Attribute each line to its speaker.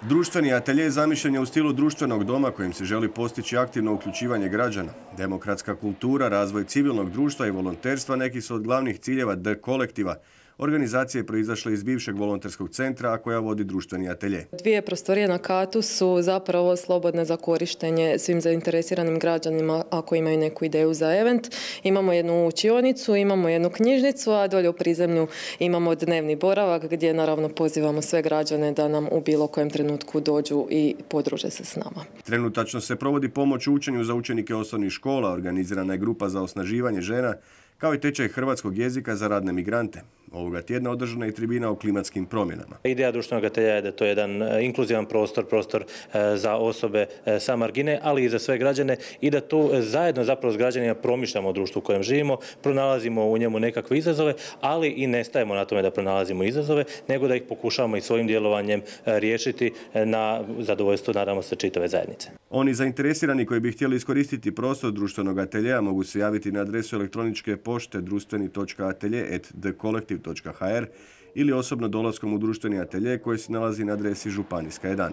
Speaker 1: Društveni atelje zamišljen je u stilu društvenog doma kojim se želi postići aktivno uključivanje građana. Demokratska kultura, razvoj civilnog društva i volonterstva neki su od glavnih ciljeva D kolektiva, organizacije proizašle iz bivšeg volonterskog centra, a koja vodi društveni atelje.
Speaker 2: Dvije prostorije na katu su zapravo slobodne za korištenje svim zainteresiranim građanima ako imaju neku ideju za event. Imamo jednu učionicu, imamo jednu knjižnicu, a dolje u prizemlju imamo dnevni boravak gdje naravno pozivamo sve građane da nam u bilo kojem trenutku dođu i podruže se s nama.
Speaker 1: Trenutačno se provodi pomoć u učenju za učenike osnovnih škola, organizirana je grupa za osnaživanje žena, kao i tečaj hrvatskog jezika za radne migrante. Ovoga tjedna održana je tribina o klimatskim promjenama.
Speaker 3: Ideja društvenog ateljeja je da to je jedan inkluzivan prostor za osobe sa margine, ali i za sve građane i da tu zajedno zapravo s građanima promišljamo o društvu u kojem živimo, pronalazimo u njemu nekakve izazove, ali i ne stajemo na tome da pronalazimo izazove, nego da ih pokušavamo i svojim djelovanjem riješiti na zadovoljstvo, naravno, se čitave zajednice.
Speaker 1: Oni zainteresirani koji bi htjeli iskoristiti prostor društvenog ateljeja mogu se javiti na adresu elektroničke pošte društveni.atelje@dkolektiv.hr ili osobno dolaskom u društveni atelje koji se nalazi na adresi Županijska 11.